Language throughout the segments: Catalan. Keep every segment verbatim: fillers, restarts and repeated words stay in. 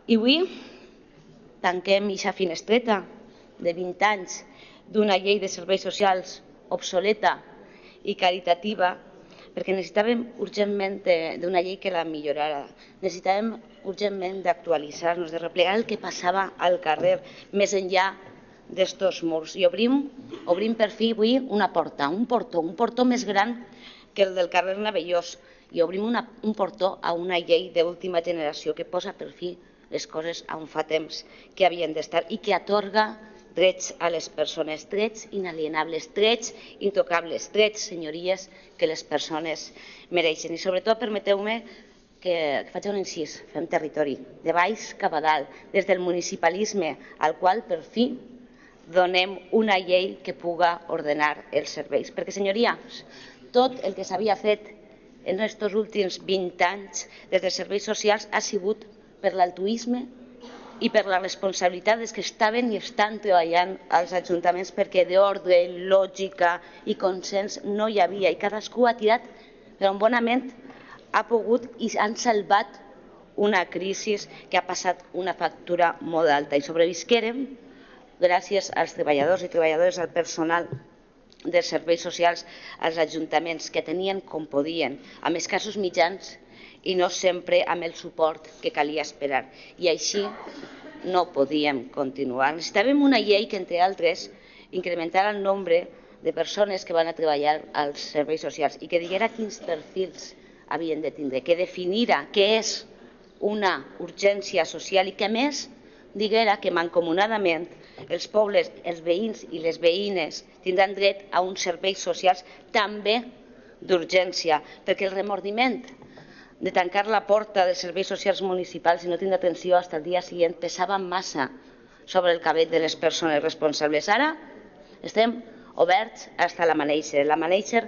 I avui tanquem aquesta finestreta de vint anys d'una llei de serveis socials obsoleta i caritativa, perquè necessitàvem urgentment d'una llei que la millorara. Necessitàvem urgentment d'actualitzar-nos, de replegar el que passava al carrer, més enllà d'estos murs. I obrim, obrim per fi avui una porta, un portó, un portó més gran que el del carrer Navellós, i obrim una, un portó a una llei d'última generació que posa per fi les coses on fa temps que havien d'estar i que atorga drets a les persones, drets inalienables, drets intocables, drets, senyories, que les persones mereixen. I sobretot permeteu-me que faig un incís, fem territori, de baix cap a dalt, des del municipalisme al qual per fi donem una llei que puga ordenar els serveis. Perquè, senyories, tot el que s'havia fet en aquests últims vint anys des dels serveis socials ha sigut per l'altruisme i per la responsabilitat dels que estaven i estan treballant als ajuntaments, perquè d'ordre, lògica i consens no hi havia, i cadascú ha tirat per on bonament ha pogut i han salvat una crisi que ha passat una factura molt alta. I sobrevisquérem gràcies als treballadors i treballadores, al personal dels serveis socials, als ajuntaments, que tenien com podien, amb escassos mitjans i no sempre amb el suport que calia esperar. I així no podíem continuar. Necessitàvem una llei que, entre altres, incrementara el nombre de persones que van a treballar als serveis socials i que diguera quins perfils havien de tindre, que definira què és una urgència social i que, a més, diguera que mancomunadament els pobles, els veïns i les veïnes tindran dret a uns serveis socials també d'urgència, perquè el remordiment de tancar la porta dels serveis socials municipals i no tindre atenció fins al dia següent pesava massa sobre el cabell de les persones responsables. Ara estem oberts fins a l'amanèixer, l'amanèixer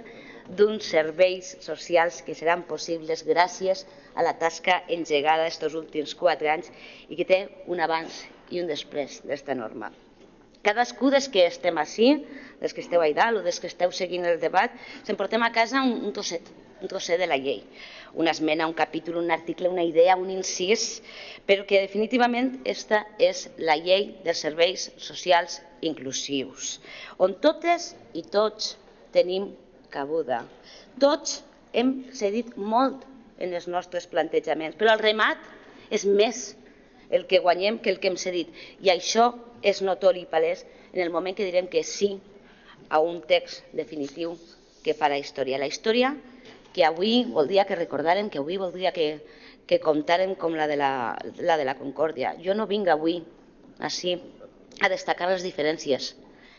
d'uns serveis socials que seran possibles gràcies a la tasca engegada aquests últims quatre anys i que té un abans i un després d'esta norma. Cadascú dels que estem així, dels que esteu allà dalt o dels que esteu seguint el debat, s'emportem a casa un trosset, un trosset de la llei, una esmena, un capítol, un article, una idea, un incís, però que definitivament aquesta és la llei dels serveis socials inclusius, on totes i tots tenim cabuda. Tots hem cedit molt en els nostres plantejaments, però el remat és més el que guanyem que el que hem cedit. I això és notori i palès en el moment que direm que sí a un text definitiu que farà història. La història que avui voldria que recordàrem, que avui voldria que, que comptàrem com la de la, la de la Concòrdia. Jo no vinc avui així a destacar les diferències,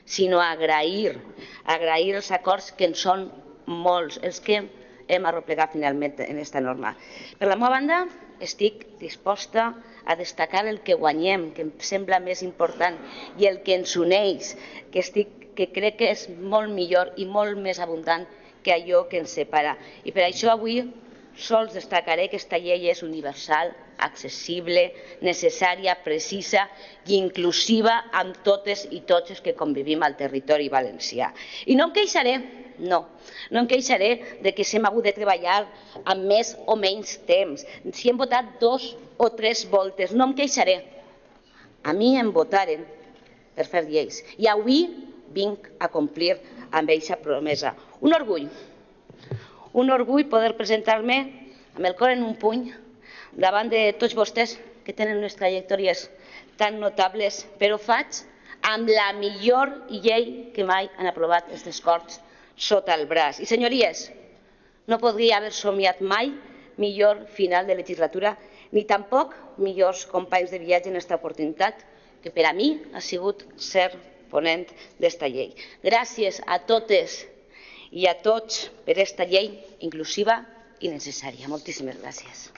sinó a agrair, agrair els acords que en són molts, els que hem arreplegat finalment en aquesta norma. Per la meva banda, estic disposta a destacar el que guanyem, que em sembla més important, i el que ens uneix, que, estic, que crec que és molt millor i molt més abundant que allò que ens separa. I per això avui sols destacaré que aquesta llei és universal, accessible, necessària, precisa i inclusiva amb totes i tots els que convivim al territori valencià. I no em queixaré, no, no em queixaré de que s'hem hagut de treballar amb més o menys temps, si hem votat dos o tres voltes, no em queixaré. A mi em votaren per fer lleis i avui vinc a complir amb aquesta promesa. Un orgull, un orgull poder presentar-me amb el cor en un puny davant de tots vostès que tenen unes trajectòries tan notables, però ho faig amb la millor llei que mai han aprovat aquestes Corts sota el braç. I, senyories, no podria haver somiat mai millor final de legislatura ni tampoc millors companys de viatge en aquesta oportunitat, que per a mi ha sigut ser ponent d'esta llei. Gràcies a totes i a tots per aquesta llei inclusiva i necessària. Moltíssimes gràcies.